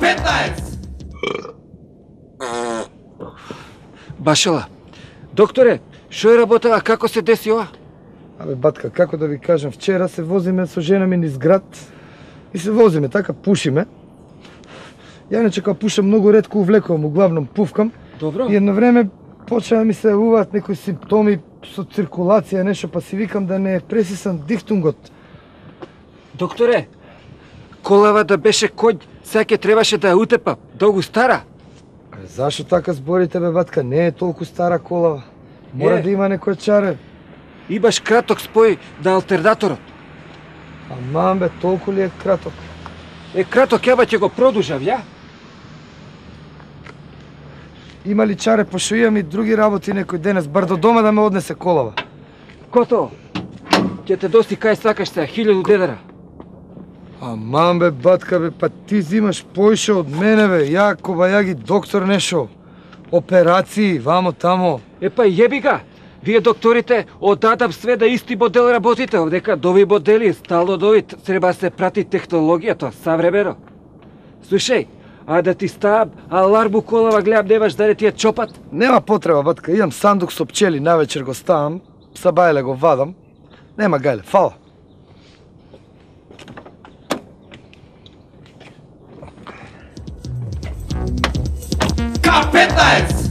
K15! Башела, докторе, шо е работа, како се деси ова? Абе, батка, како да ви кажам, вчера се возиме со жена ми низ град и се возиме, така пушиме. Ја иначе кога пушам многу ретко увлекувам, углавном пувкам. Добро. И едно време почна да ми се јавуваат некои симптоми со циркулација, нешто, па си викам да не пресисам дихтунгот. Докторе, колава да беше коњ, сега ќе требаше да ја утепа, долгу стара. Зашо така зборите, бе, батка? Не е толку стара колава. Мора да има некој чаре. И баш краток спој да алтернаторот. Аман, бе, толку ли е краток? Краток, ја ќе го продужав, ја? Има ли чаре, пошто имам и други работи некој денес, бар до дома да ме однесе колава. Кото? Ќе те доси кај сакаш сега, 1000 дедара. Аман, бе, батка, бе, па ти зимаш поише од мене, бе. Ја, кобајаги доктор нешо. Операции, вамо тамо. Па јеби га. Вие докторите одадам све да исти модел работите, овдека дови модели, стално дови, треба се прати технологијата, савремено. Слушај, а да ти ставам аларму колава, гледам немаш да не ти ја чопат? Нема потреба, батка, имам сандук со пчели, навечер го ставам, са бајле го вадам. Нема гајле, фала. K15!